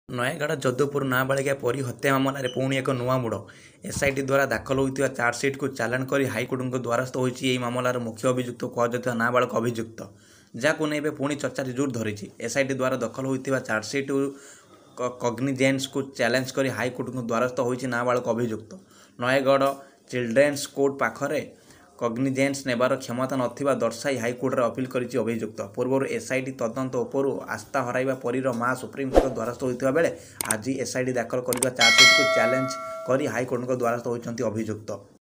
ନୟାଗଡ଼ ଯଦୁପୁର ନାବାଳିକା ପରୀ ହତ୍ୟା ମାମଲାରେ ପୁଣି ଏକ ନୂଆ ମୋଡ଼। ଏସ୍ଆଇଟି ଦ୍ୱାରା ଦାଖଲ ହୋଇଥିବା ଚାର୍ଜସିଟ୍କୁ ଚାଲାଣ କରି ହାଇକୋର୍ଟଙ୍କ ଦ୍ୱାରସ୍ଥ ହୋଇଛି ଏହି ମାମଲାର ମୁଖ୍ୟ ଅଭିଯୁକ୍ତ କୁହାଯାଉଥିବା ନାବାଳକ ଅଭିଯୁକ୍ତ। ଯାହାକୁ ନେଇ ଏବେ ପୁଣି ଚର୍ଚ୍ଚା ଜୋର ଧରିଛି। ଏସ୍ଆଇଟି ଦ୍ୱାରା ଦଖଲ ହୋଇଥିବା ଚାର୍ଜସିଟ୍ କଗ୍ନିଜେନ୍ସକୁ ଚ୍ୟାଲେଞ୍ଜ କରି ହାଇକୋର୍ଟଙ୍କ ଦ୍ୱାରସ୍ଥ ହୋଇଛି ନାବାଳକ ଅଭିଯୁକ୍ତ। ନୟାଗଡ଼ ଚିଲଡ୍ରେନ୍ସ କୋର୍ଟ ପାଖରେ କଗ୍ନିଜେନ୍ସ ନେବାର କ୍ଷମତା ନଥିବା ଦର୍ଶାଇ ହାଇକୋର୍ଟରେ ଅପିଲ କରିଛି ଅଭିଯୁକ୍ତ। ପୂର୍ବରୁ ଏସ୍ଆଇଟି ତଦନ୍ତ ଉପରୁ ଆସ୍ଥା ହରାଇବା ପରୀର ମା ସୁପ୍ରିମକୋର୍ଟଙ୍କ ଦ୍ୱାରସ୍ଥ ହୋଇଥିବା ବେଳେ ଆଜି ଏସ୍ଆଇଟି ଦାଖଲ କରିଥିବା ଚାର୍ଜସିଟ୍କୁ ଚ୍ୟାଲେଞ୍ଜ କରି ହାଇକୋର୍ଟଙ୍କ ଦ୍ୱାରସ୍ଥ ହୋଇଛନ୍ତି ଅଭିଯୁକ୍ତ।